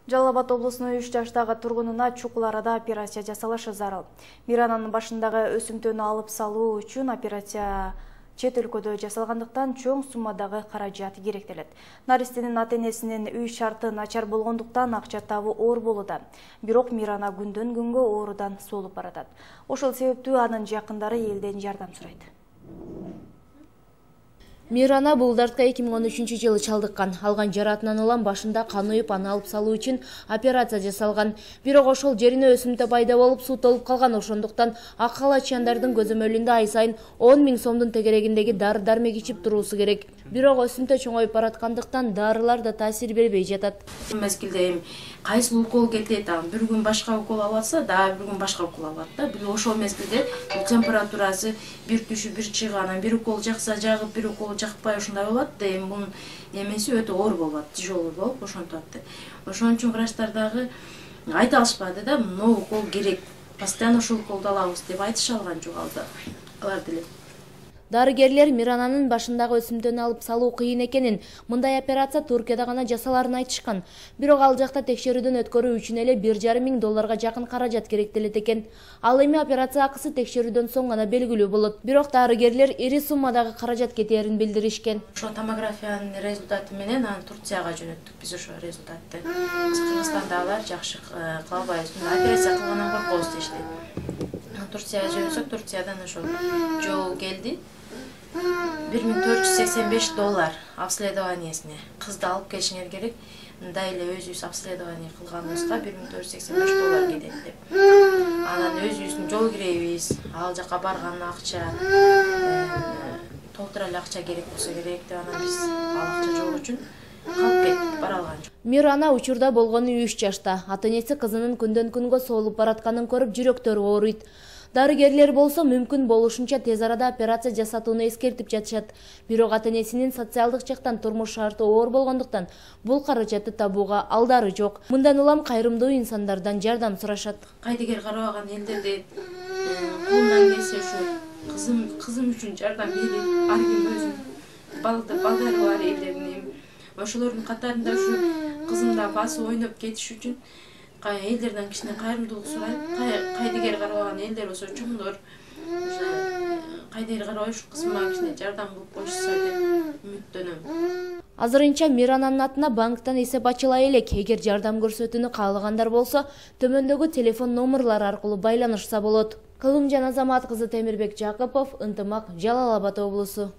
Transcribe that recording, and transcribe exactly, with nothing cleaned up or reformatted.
Жалал Абад облусунун үч жаштагы тургунуна чукул арада операция жасалышы зарыл. Мирананын башындагы өсүмтөнү алып салуу үчүн операция чет өлкөдө жасалгандыктан чоң суммадагы каражат керектелет. Наристенин ата-энесинин үй шарты начар болгондуктан акча табуу оор болууда. Бирок Мирана күндөн күнгө оорудан солуп баратат. Ошол себептүү анын жакындары элден жардам сурайт. Мирана бул дартка эки миң он үчүнчү жылы чалдыккан. Алган жараатынан улам башында кан уюп, аны алып салуу үчүн операция жасалган. Бирок ошол жерине өсүмтө пайда болуп, суу толуп калган. Ошондуктан ак халаччандардын көзөмөлүндө ай сайын он миң сомдун тегерегиндеги дары-дармек ичип туруусу керек. Бирок өсүмтө чоңоюп бараткандыктан дарылар да таасир бербей жатат. Мезгилде эми кайсы укол кетет, бир күн башка укол алып атса, дагы бир күн башка укол алат да. Бир ошол мезгилде температурасы бир түшүп, бир чыгып, бир укол жакса жагып, бир укол жакпай ушундай болот да. Эми бунун эмеси өтө оор болот, тяжелый болуп ошентип атты. Ошон үчүн врачтар дагы айта алышпады да, могу укол керек, постоянно ушул уколду алабыз деп айтыша алган жок алар деле. Дарыгерлер Мирананын башындагы өсүмтөнү алып салуу кыйын экенин, мындай операция Туркияда гана жасаларын айтышкан. Бирок ал жакта текшерүүдөн өткөрүү үчүн эле бир жарым миң долларга жакын каражат керектелет экен. Ал эми операция акысы текшерүүдөн соң гана белгилүү болот. Бирок дарыгерлер ири суммадагы каражат кетээрин билдиришкен. Ошо томографиянын результаты менен аны Турцияга жөнөттүк биз ошо результатты. Биз Кыргызстандагылар жакшы кыла албайбыз, операция кылгандан коркобуз дешти. Турцияга жөнөтсөк, Турциядан ошо жол келди. бир миң төрт жүз сексен беш доллар обследованиесине. Кызды алып келишиңер керек. Мындай эле өзүбүз обследование кылганыбызга бир миң төрт жүз сексен беш доллар кетет деп. Анан өзүбүздүн жол киребиз, ал жака барган акча, толтура эле акча керек болсо керек деп анан биз ал акча жок үчүн калып кеттик, бара алган жок. Мирана учурда болгону үч жашта. Ата-энеси кызынын күндөн күнгө соолуп баратканын көрүп жүрөктөрү ооруйт. Дарыгерлер болсо мүмкүн болушунча тез арада операция жасатууну эскертип жатышат. Бирок ата-энесинин социалдык жактан турмуш шарты оор болгондуктан бул каражатты табууга алдары жок. Мындан улам кайрымдуу инсандардан жардам сурашат. Кайдыгер карабаган элдерде колунан келсе ушу кызым кызым үчүн жардам берип, ар ким өзүнүн балдары бар элдерин, ошолордун катарында ушу кызымда басып ойноп кетиш үчүн элдерден кичине кайрымдуулук сурайт. Кайдыгер карабаган элдер болсо чоңдор кайдыгер карабай ушу кызыма кичине жардам кылып коюшса деп үмүттөнөм. Азырынча Мирананын атына банктан эсеп ачыла элек. Эгер жардам көрсөтүүнү каалагандар болсо, төмөндөгү телефон номерлары аркылуу байланышса болот. Кылымжан Азамат кызы Темирбек Жакыпов, Ынтымак, Жалал Абад облусу.